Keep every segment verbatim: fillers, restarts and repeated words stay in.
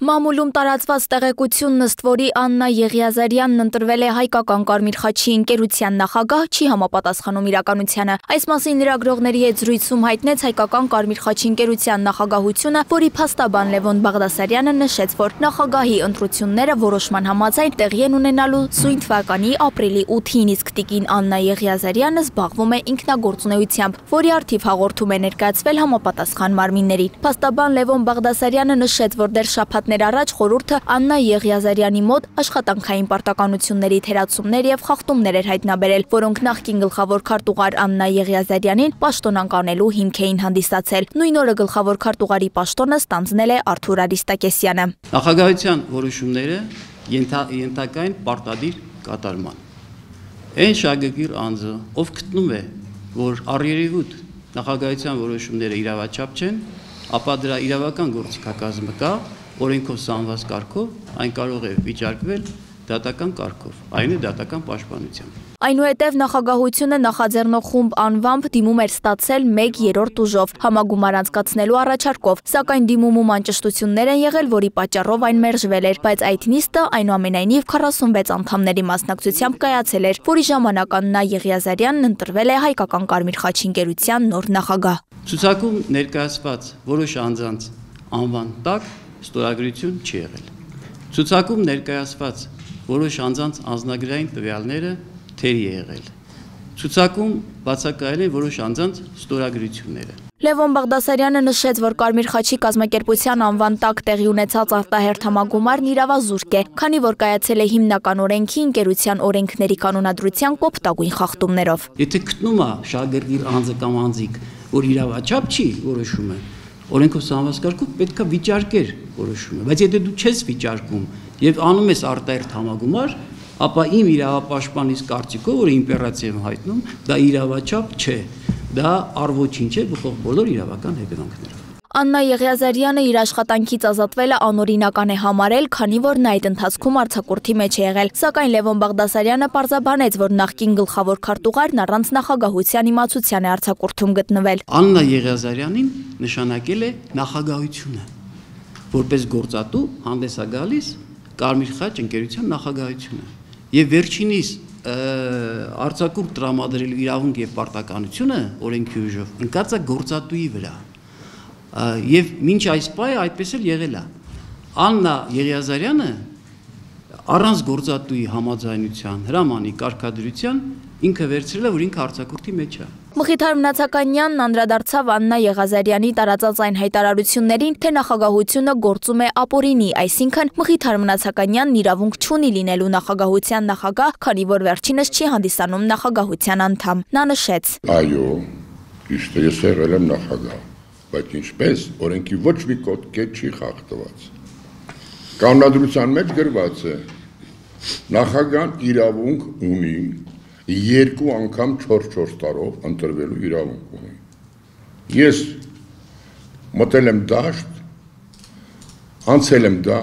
Մամուլում տարածված տեղեկությունն ըստ որի Աննա Եղիազարյանն ընտրվել է հայկական Կարմիր խաչի ընկերության նախագահ, չի համապատասխանում իրականությանը։ Այս մասին լրագրողների հետ զրույցում հայտնեց հայկական Կարմիր խաչի ընկերության նախագահությունը, որի փաստաբան Լևոն Բաղդասարյանը նշեց, որ նախագահի ընտրությունները որոշման համաձայն տեղի են ունենալու սույն թվականի ապրիլի ութին, իսկ տիկին Աննա Եղիազարյանը զբաղվում է ինքնագործունեությամբ, որի առթիվ հաղորդում է ներկայացվել համապատասխան մարմիններին։ Փաստաբան Լևոն Բաղդասարյանը նշեց, որ դեռ շաբաթներ առաջ խորհուրդը Աննա Եղիազարյանի մոտ աշխատանքային պարտականությունների թերացումներ եւ խախտումներ էր հայտնաբերել, որոնք նախկին գլխավոր քարտուղար Աննա Եղիազարյանին պաշտոնանկ անելու հիմք էին հանդիսացել։ Նույն օրը գլխավոր քարտուղարի պաշտոնը ստանձնել է Արթուր Արիստակեսյանը։ Նախագահության որոշումները ենթակային պարտադիր կատարման։ Այն շահագրգիռ անձը, ով գտնում է, որ առերևույթ նախագահության որոշումները իրավաչափ չեն, ապա դրա իրավական գործիքակազմը կա, օրենքով սահմանված կարգով այն կարող է վիճարկվել դատական կարգով, այն է դատական պաշտպանությամբ։ Այնուհետև նախագահությունը նախաձեռնող խումբ անվամբ դիմում էր ստացել մեկ երրորդ ուժով համագումար անցկացնելու առաջարկով, սակայն դիմումում անճշտություններ են եղել, որի պատճառով այն մերժվել էր, բայց այդ նիստը այնուամենայնիվ քառասունվեց անդամների մասնակցությամբ կայացել էր, որի ժամանակ Աննա Եղիազարյանն ընտրվել է հայկական Կարմիր խաչի ընկերության նոր նախագահ։ Ցուցակում ներկայացված որոշ անձանց անվան տակ ստորագրություն չի եղել։ Ցուցակում ներկայացված որոշ անձանց անձնագրային տվյալները թերի է եղել։ Ցուցակում բացակայել են որոշ անձանց ստորագրությունները։ Լևոն Բաղդասարյանը նշեց, որ Կարմիր խաչի կազմակերպության անվան տակ տեղի ունեցած արտահերթ համագումարն իրավազուրկ է, քանի որ կայացել է հիմնական օրենքի ընկերության օրենքների կանոնադրության կոպտագույն խախտումներով։ Եթե գտնում է շահագրգիռ անձը կամ անձիկ, որ իրավաչափ չի որոշումը, օրենքով սահմանված կարգով պետք է վիճարկեր որոշումը, բայց եթե դու չես վիճարկում եւ անում ես արտահերթ համագումար, ապա իմ իրավապաշտպանիս կարծիքով, որ իմպերատիվ եմ հայտնում, դա իրավաչափ չէ, դա առ-ոչինչ է բխող բոլոր իրավական հետևանքներով։ Աննա Եղիազարյանը իր աշխատանքից ազատվելը անօրինական է համարել, քանի որ նա այդ ընթացքում արձակուրդի մեջ է եղել, սակայն Լևոն Բաղդասարյանը պարզաբանեց, որ նախկին գլխավոր քարտուղարն առանց նախագահության իմացության է արձակուրդում գտնվել։ Աննա Եղիազարյանին նշանակել է նախագահությունը, որպես գործատու հանդես է գալիս Կարմիր խաչ ընկերության նախագահությունը, եւ վերջինիս արձակուրդ տրամադրելու իրավունք եւ պարտականությունը օրենքի ուժով ընկած է գործատուի վրա։ Եվ մինչ այս պահը այդպես էլ եղել է։ Աննա Եղիազարյանը առանց գործատուի համաձայնության, հրամանի, կարգադրության ինքը վերցրել է, որ ինքը արձակուրդի մեջ է։ Մխիթար Մնացականյանն անդրադարձավ Աննա Եղիազարյանի տարածած այն հայտարարություններին, թե նախագահությունը գործում է ապօրինի, այսինքն Մխիթար Մնացականյանն իրավունք չունի լինելու նախագահության նախագահ, քանի որ վերջինս չի հանդիսանում նախագահության անդամ։ Նա նշեց. Այո, ճիշտ է, ես եղել եմ նախագահ, բայց ինչպես օրենքի ոչ մի կոտ չի խախտված։ Կանոնադրության մեջ գրված է նախագահան իրավունք ունի երկու անգամ չորս-չորս տարով ընտրվելու իրավունք ունի։ Ես մտել եմ դաշտ, անցել եմ դա,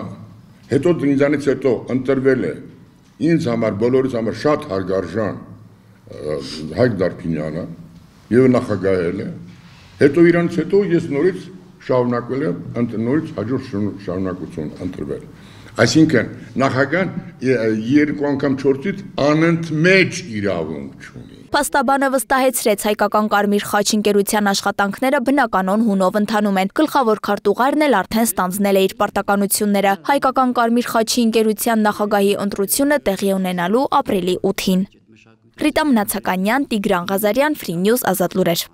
հետո դրանից հետո ընտրվել է ինձ համար, բոլորիս համար շատ հարգարժան Հայկ Դարփինյանը եւ նախագահել է, հետո իրանից հետո ես նորից շարունակվել եմ, նորից հաջորդ շարունակություն ընտրվել։ Այսինքն նախագահան երկու անգամ չորսից անընդմեջ իրավունք չունի։ Փաստաբանը վստահեցրեց հայկական Կարմիր խաչ ընկերության աշխատանքները բնականon հունով ընթանում են։ Գլխավոր քարտուղարն էլ արդեն ստանձնել է իր պարտականությունները։ Հայկական Կարմիր խաչի ընկերության նախագահի ընտրությունը տեղի ունենալու ապրիլի ութին։ Ռիտա Մնացականյան, Տիգրան Ղազարյան, Free News, Ազատ լուրեր։